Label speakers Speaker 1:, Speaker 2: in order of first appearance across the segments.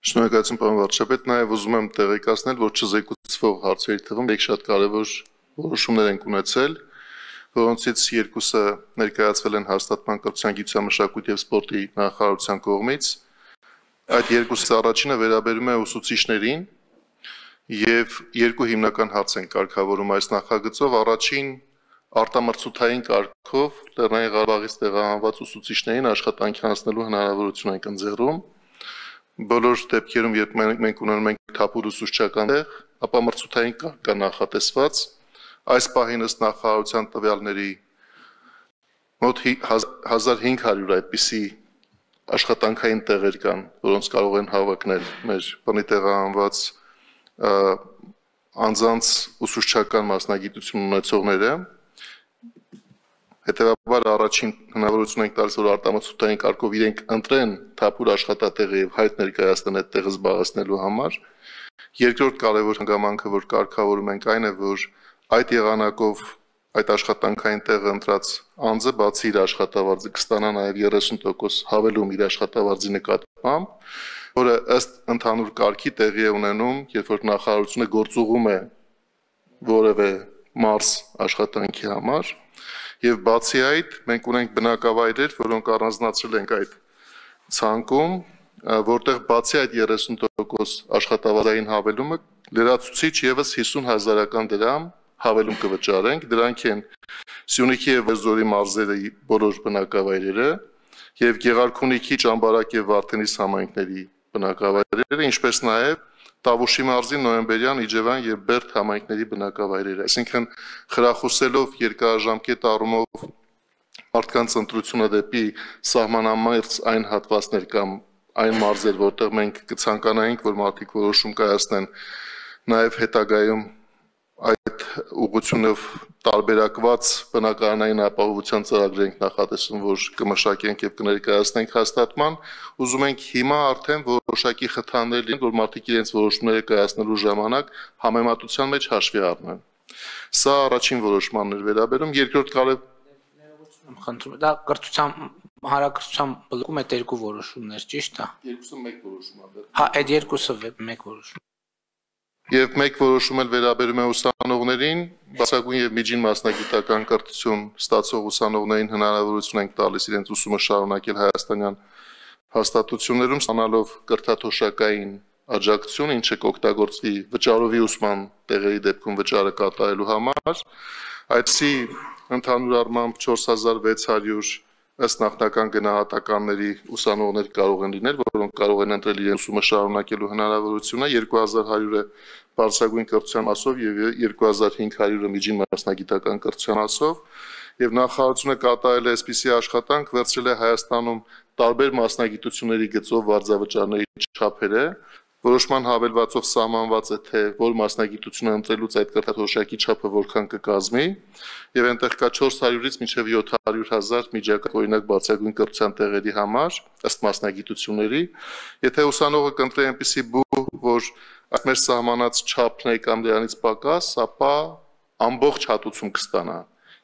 Speaker 1: Շնորհակալություն պարոն վարչապետ, նաև ուզում եմ տեղեկացնել, որ չզեկուցվող հարցերի թվում մեկ շատ կարևոր որոշումներ են ունեցել, որոնցից երկուսը ներկայացվել են հաստատման կրթության, գիտության, մշակույթի և սպորտի նախարարության կողմից։ Այդ երկուսից առաջինը վերաբերում է ուսուցիչներին և երկու հիմնական հարց են կարգավորում այս նախագծով։ Առաջին արտամրցութային կարգով Լեռնային Ղարաբաղից տեղահանված ուսուցիչներին աշխատանքի անցնելու հնարավորություն ենք ընձեռում։ Բոլոր դեպքերում, երբ մենք ունենում ենք թափուր ուսուցչական տեղ, ապա մրցութային կարգ կա նախատեսված։ Այս պահին ըստ նախարարության տվյալների մոտ 1500 այդպիսի աշխատանքային տեղեր կան, որոնց կարող են հավակնել մեր բնի տեղահանված անձանց ուսուցչական մասնագիտություն ունեցողները։ Հետևաբար առաջին հնարավորություն ենք տալիս, որ արտամրցութային կարգով իրենք ընտրեն թափուր աշխատատեղը և հայտ ներկայացնեն այդ տեղը զբաղեցնելու համար։ Երկրորդ կարևոր հանգամանքը, որ կարգավորում ենք, այն է, որ այդ եղանակով այդ աշխատանքային տեղը ընտրած անձը բացի իր աշխատավարձը կստանա նաև 30% հավելում իր աշխատավարձի նկատմամբ, որը ըստ ընդհանուր կարգի տեղի է ունենում, երբ որ նախարարությունը գործուղում է որևէ մարզ աշխատանքի համար։ Եվ բացի այդ, մենք ունենք բնակավայրեր, որոնք առանձնացրել ենք այդ ցանկում, որտեղ բացի այդ 30% աշխատավարձային հավելումը լրացուցիչ ևս 50,000 դրամ հավելում կվճարենք, դրանք են Սյունիքի և Վերզորի մարզերի բոլոր բնակավայրերը և Գեղարքունիքի, Ճամբարակ և Վարդենիս համայնքների բնակավայրերը, ինչպես նաև Տավուշի մարզի Նոյեմբերյան, Իջևան և Բերդ համայնքների բնակավայրերը, այսինքն խրախուսելով երկարաժամկետ առումով մարդկանց ընտրությունը դեպի սահմանամերձ այն հատվածներ կամ այն մարզեր, որտեղ մենք կցանկանայինք, որ մարդիկ որոշում կայացնեն, նաև հետագայում այդ ուղղությունով տարբերակված բնակարանային ապահովության ծրագրեր ենք նախատեսում, որ կմշակենք և կներկայացնենք հաստատման, ուզում ենք հիմա արդեն որոշակի խթաններ լինեն, որ մարդիկ իրենց որոշումները կայացնելու ժամանակ համեմատության մեջ հաշվի առնեն։ Սա առաջին որոշմանն էր վերաբերում, երկրորդ
Speaker 2: խնդրում եմ, դա հանրակրթության բլոկում այդ երկու որոշումներ, ճիշտ է։
Speaker 1: Երկուսը մեկ որոշում է։
Speaker 2: Հա, այդ երկուսը մեկ որոշում։
Speaker 1: Եվ մեկ որոշում էլ վերաբերում է ուսանողներին, բարձրագույն և միջին մասնագիտական կրթություն ստացող ուսանողներին հնարավորություն ենք տալիս իրենց ուսումը շարունակել հայաստանյան հաստատություններում, ստանալով կրթաթոշակային աջակցություն, ինչը կօգտագործվի վճարովի ուսման տեղերի դեպքում վճարը կատարելու համար։ Այդպիսի ընդհանուր առմամբ 4600 ըստ նախնական գնահատականների ուսանողներ կարող են լինել, որոնք կարող են ընտրել իրենց ուսումը շարունակելու հնարավորությունը, 2100-ը բարձրագույն կրթության մասով և 2500-ը միջին մասնագիտական կրթության մասով, և նախարարությունը կատարել է այսպիսի աշխատանք, վերցրել է Հայաստանում տարբեր մասնագիտությունների գծով վարձավճարների չափերը, որոշման հավելվածով սահմանված է, թե որ մասնագիտությունը ընտրելուց այդ կրթաթոշակի չափը որքան կկազմի, և այնտեղ կա 400-ից մինչև 700,000 միջակայք, օրինակ բարձրագույն կրթության տեղերի համար, ըստ մասնագիտությունների։ Եթե ուսանողը կընտրի այնպիսի բուհ, որ այդ մեր սահմանած չափն է կամ դրանից պակաս, ապա ամբողջ հատուցում կստանա։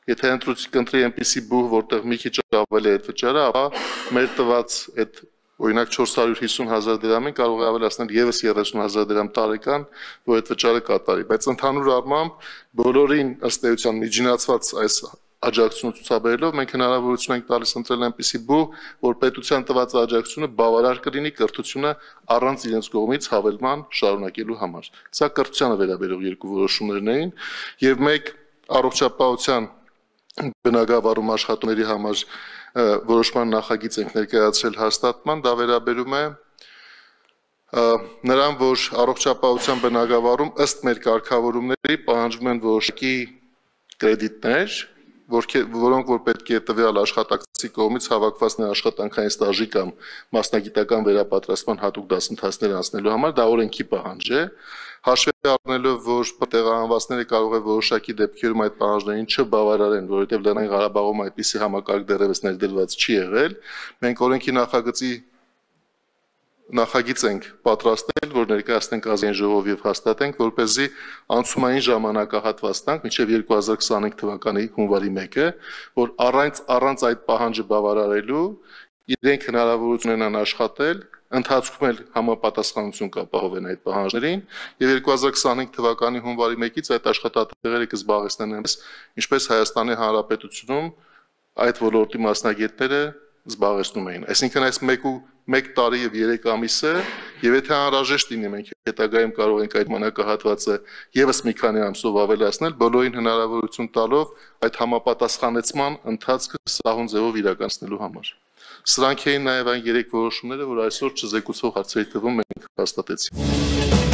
Speaker 1: Եթե կընտրի այնպիսի բուհ, որտեղ մի քիչ ավելի է այդ վճարը, ապա մեր տված այդ օրինակ 450,000 դրամին կարող է ավելացնել ևս 30,000 դրամ տարեկան, որ այդ վճարը կատարի, բայց ընդհանուր առմամբ բոլորին ըստ էության միջինացված այս աջակցությունը ցուցաբերելով մենք հնարավորություն ենք տալիս ընտրել այնպիսի բուհ, որ պետության տված աջակցությունը բավարար կլինի կրթությունը առանց իրենց կողմից հավելման շարունակելու համար։ Սա կրթությանը վերաբերող երկու որոշումներն էին, և մեկ առողջապահության բնագավառում աշխատողների համար որոշման նախագիծ ենք ներկայացրել հաստատման, դա վերաբերում է նրան, որ առողջապահության բնագավառում ըստ մեր կարգավորումների պահանջվում են որոշակի կրեդիտներ, որոնք որ պետք է տվյալ աշխատակցի կողմից հավաքված աշխատանքային ստաժի կամ մասնագիտական վերապատրաստման հատուկ դասընթացներ անցնելու համար, դա օրենքի պահանջ է, հաշվի առնելով, որ տեղահանվածները կարող է որոշակի դեպքերում այդ պահանջներին չբավարարեն, որովհետև Լեռնային Ղարաբաղում այդպիսի համակարգ դեռևս ներդրված չի եղել, մենք օրենքի նախագիծ ենք պատրաստել, որ ներկայացնենք ազգային ժողով և հաստատենք, որպեսզի անցումային ժամանակահատված տանք մինչև 2025 թվականի հունվարի 1-ը, որ առանց այդ պահանջը բավարարելու իրենք հնարավորություն ունենան աշխատել ընթացքում էլ համապատասխանություն կապահովեն այդ պահանջներին եւ 2025 թվականի հունվարի 1-ից այդ աշխատատեղերը կզբաղեցնեն ինչպես Հայաստանի Հանրապետությունում այդ ոլորտի մասնագետները զբաղեցնում էին այսինքն այս 1 տարի եւ 3 ամիսը եւ եթե անհրաժեշտ լինի մենք հետագայում կարող ենք այդ մանակահատվածը եւս մի քանի ամսով ավելացնել բոլորին հնարավորություն տալով այդ համապատասխանեցման ընթացքը սահուն ձևով իրականացնելու համար Սրանք էին նաև այն 3 որոշումները, որ այսօր չզեկուցող հարցերի թվում մենք հաստատեցինք։